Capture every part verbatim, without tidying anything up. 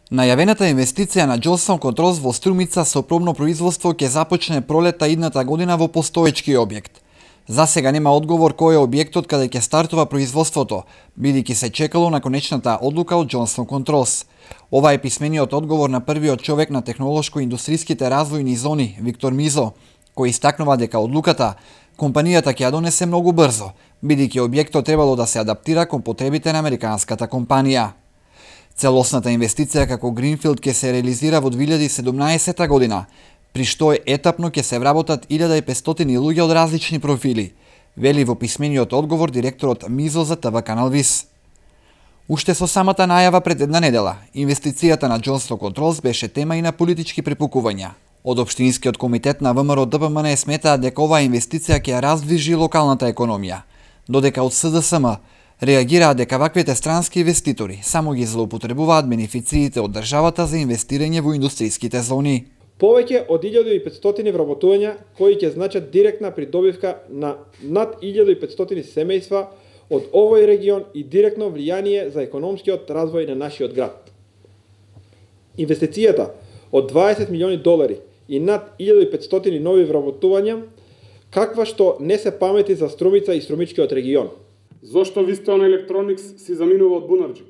Најавената инвестиција на Johnson Controls во Струмица со пробно производство ќе започне пролета идната година во постоечки објект. За сега нема одговор кој е објектот каде ќе стартува производството, бидејќи се чекало на конечната одлука од Johnson Controls. Ова е писмениот одговор на првиот човек на технолошко-индустријските развојни зони, Виктор Мизо, кој истакнува дека одлуката компанијата ќе ја донесе многу брзо, бидејќи објектот требало да се адаптира кон потребите на американската компанија. Целосната инвестиција како Гринфилд ќе се реализира во две илјади и седумнаесета година, при што етапно ќе се вработат илјада и петстотини луѓе од различни профили, вели во писмениот одговор директорот Мизо за ТВ канал ВИС. Уште со самата најава пред една недела, инвестицијата на Johnson Controls беше тема и на политички препукувања. Од Општинскиот комитет на ВМРО Д П М Н сметаат дека оваа инвестиција ќе ја раздвижи локалната економија, додека од С Д С М реагираат дека ваквите странски инвеститори само ги злоупотребуваат бенефициите од државата за инвестирање во индустријските зони. Повеќе од илјада и петстотини вработувања кои ќе значат директна придобивка на над илјада и петстотини семејства од овој регион и директно влијание за економскиот развој на нашиот град. Инвестицијата од дваесет милиони долари и над илјада и петстотини нови вработувања, каква што не се памети за Струмица и Струмичкиот регион. Зошто Вистон Електроникс си заминува од Бунарџик?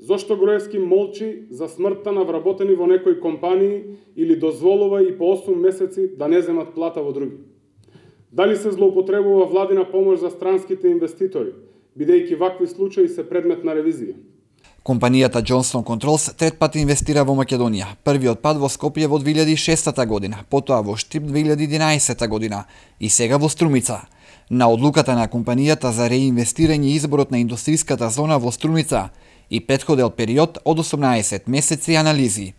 Зошто Груевски молчи за смртта на вработени во некои компании или дозволува и по осум месеци да не земат плата во други? Дали се злоупотребува владина помош за странските инвеститори, бидејќи вакви случаи се предмет на ревизија? Компанијата Johnson Controls трет пат инвестира во Македонија. Првиот пат во Скопје во две илјади и шестата година, потоа во Штип две илјади и единаесета година и сега во Струмица. На одлуката на компанијата за реинвестирање и изборот на индустријската зона во Струмица и претходел период од осумнаесет месеци анализи.